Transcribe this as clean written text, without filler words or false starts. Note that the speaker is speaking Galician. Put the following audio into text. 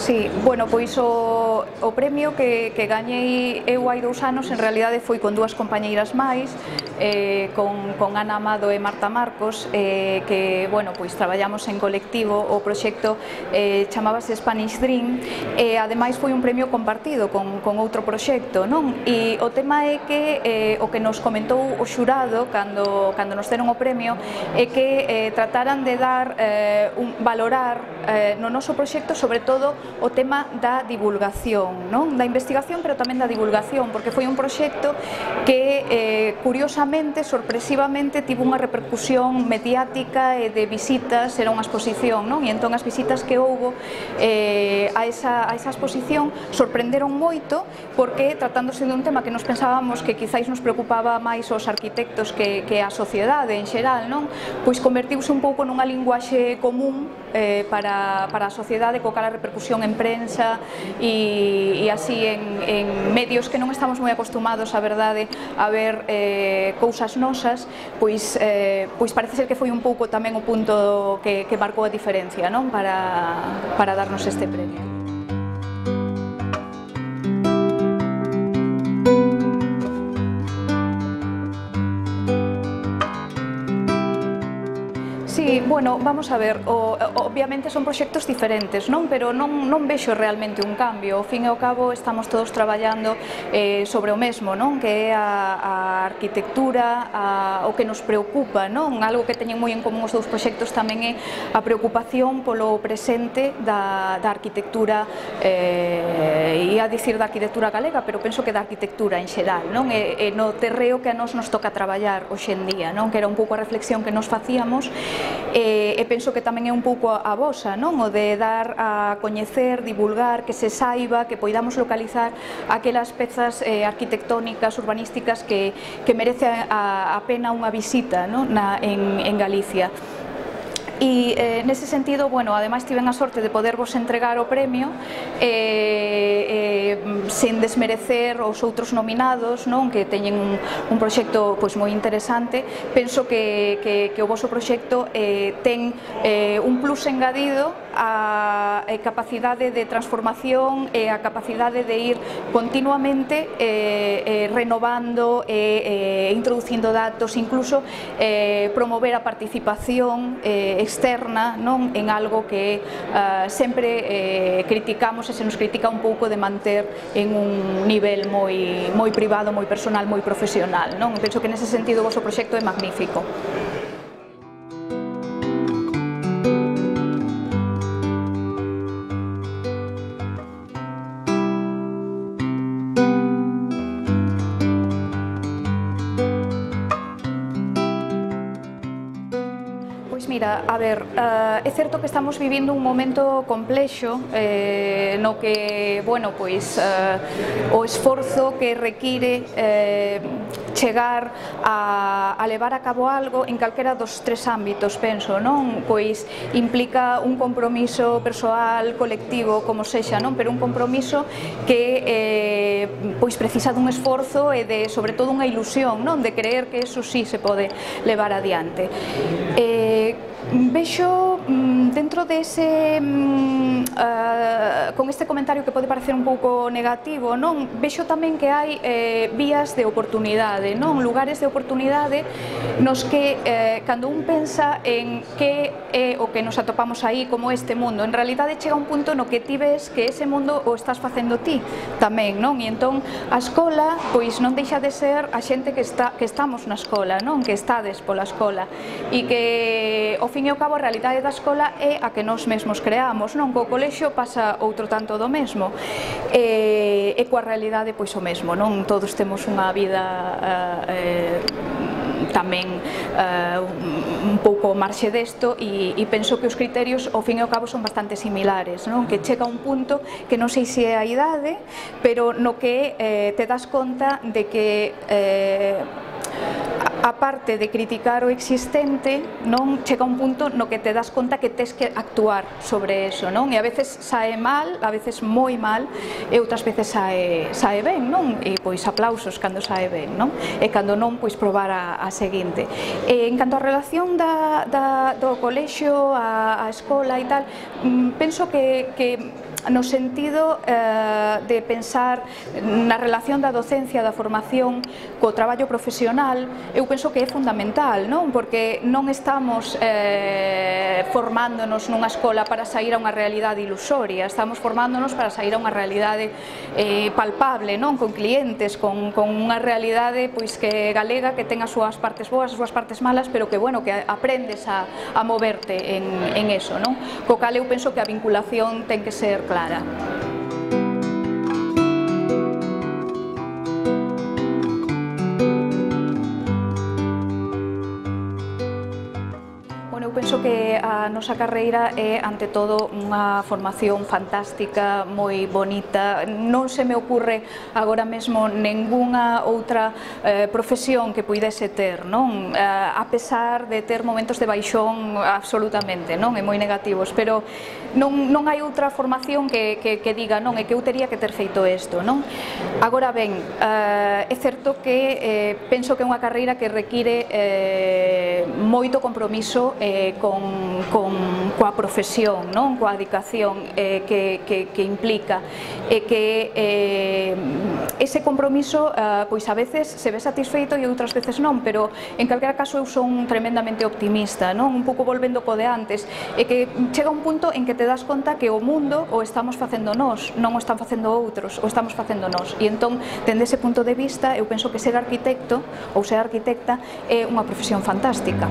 Sí, bueno, pois o premio que gañei eu hai 2 anos en realidade foi con 2 compañeiras máis, con Ana Amado e Marta Marcos, que, bueno, pois traballamos en colectivo. O proxecto chamábase Spanish Dream e ademais foi un premio compartido con outro proxecto, non? E o tema é que o que nos comentou o xurado cando nos deron o premio é que trataran de dar, valorar no noso proxecto sobre todo o tema da divulgación, non? Da investigación, pero tamén da divulgación, porque foi un proxecto que, curiosamente, sorpresivamente, tivo unha repercusión mediática e de visitas, era unha exposición, non? E entón as visitas que houbo a esa exposición sorprenderon moito, porque tratándose dun tema que nos pensábamos que quizáis nos preocupaba máis aos arquitectos que a sociedade en xeral, non? Pois convertiuse un pouco nunha linguaxe común para a sociedade, co cal a repercusión en prensa e así en medios que non estamos moi acostumados, a verdade, a ver cousas nosas, pois parece ser que foi un pouco tamén o punto que marcou a diferencia, non? Para darnos este premio. Sí, bueno, vamos a ver, obviamente son proxectos diferentes, non? Pero non vexo realmente un cambio. Ao fin e ao cabo estamos todos traballando sobre o mesmo, non? Que é a arquitectura, o que nos preocupa, non? Algo que teñen moi en común os dous proxectos tamén é a preocupación polo presente da arquitectura, ia dicir da arquitectura galega, pero penso que da arquitectura en xeral, non? E no terreo que a nos toca traballar hoxe en día, non? Que era un pouco a reflexión que nos facíamos. E penso que tamén é un pouco a vosa, non? O de dar a coñecer, divulgar, que se saiba, que poidamos localizar aquelas pezas arquitectónicas, urbanísticas que merece a pena unha visita, non? En Galicia. E nese sentido, bueno, ademais tiven a sorte de podervos entregar o premio sen desmerecer os outros nominados, non? Que teñen un proxecto pois moi interesante. Penso que o voso proxecto ten un plus engadido a capacidade de transformación e a capacidade de ir continuamente renovando e introducindo datos, incluso promover a participación externa, non? En algo que sempre criticamos e se nos critica un pouco de manter en un nivel moi privado, moi personal, moi profesional, non? Penso que nese sentido o voso proxecto é magnífico. Mira, a ver, é certo que estamos vivindo un momento complexo no que, bueno, pois o esforzo que require chegar a levar a cabo algo en calquera dos 3 ámbitos, penso, non? Pois implica un compromiso persoal, colectivo, como sexa, non? Pero un compromiso que pois precisa dun esforzo e de, sobre todo, unha ilusión, non? De creer que eso sí se pode levar adiante. Vexo dentro dese con este comentario que pode parecer un pouco negativo, non? Vexo tamén que hai vías de oportunidade, non? Lugares de oportunidade nos que cando un pensa en que é o que nos atopamos aí como este mundo, en realidade chega un punto no que ti ves que ese mundo o estás facendo ti tamén, non? E entón a escola pois non deixa de ser a xente que estamos na escola, non? Que estades pola escola e que ao fin e ao cabo a realidade da escola é a que nós mesmos creamos, non? Co colexio pasa outro tanto do mesmo e coa realidade pois o mesmo, non? Todos temos unha vida tamén un pouco marxe desto e penso que os criterios ao fin e ao cabo son bastante similares, non? Que chega un punto que non sei se é a idade, pero no que te das conta de que a parte de criticar o existente, non, chega un punto no que te das conta que tes que actuar sobre eso, non? E a veces sae mal, a veces moi mal, e outras veces sae ben, non? E pois aplausos cando sae ben, non? E cando non, pois probar a seguinte. E en canto á relación do colexio, a escola e tal, penso que no sentido de pensar na relación da docencia, da formación co traballo profesional. Eu penso que é fundamental, non? Porque non estamos formándonos nunha escola para sair a unha realidade ilusoria, estamos formándonos para sair a unha realidade palpable, non? Con clientes, con unha realidade pois que galega, que ten as súas partes boas, as súas partes malas, pero que, bueno, que aprendes a moverte en eso, non? Co cal eu penso que a vinculación ten que ser clara. Eu penso que a nosa carreira é, ante todo, unha formación fantástica, moi bonita. Non se me ocurre agora mesmo ningunha outra profesión que puidese ter, non? A pesar de ter momentos de baixón absolutamente, non? E moi negativos, pero non hai outra formación que diga, non, é que eu tería que ter feito isto, non? Agora ben, é certo que penso que é unha carreira que require moito compromiso coa profesión, non? Coa dedicación que implica, e que ese compromiso pois a veces se ve satisfeito e outras veces non, pero en calquera caso eu son tremendamente optimista, non? Un pouco volvendo co de antes, e que chega un punto en que te das conta que o mundo o estamos facendo nós, non o están facendo outros, o estamos facendo nós, e entón, dende ese punto de vista, eu penso que ser arquitecto ou ser arquitecta é unha profesión fantástica.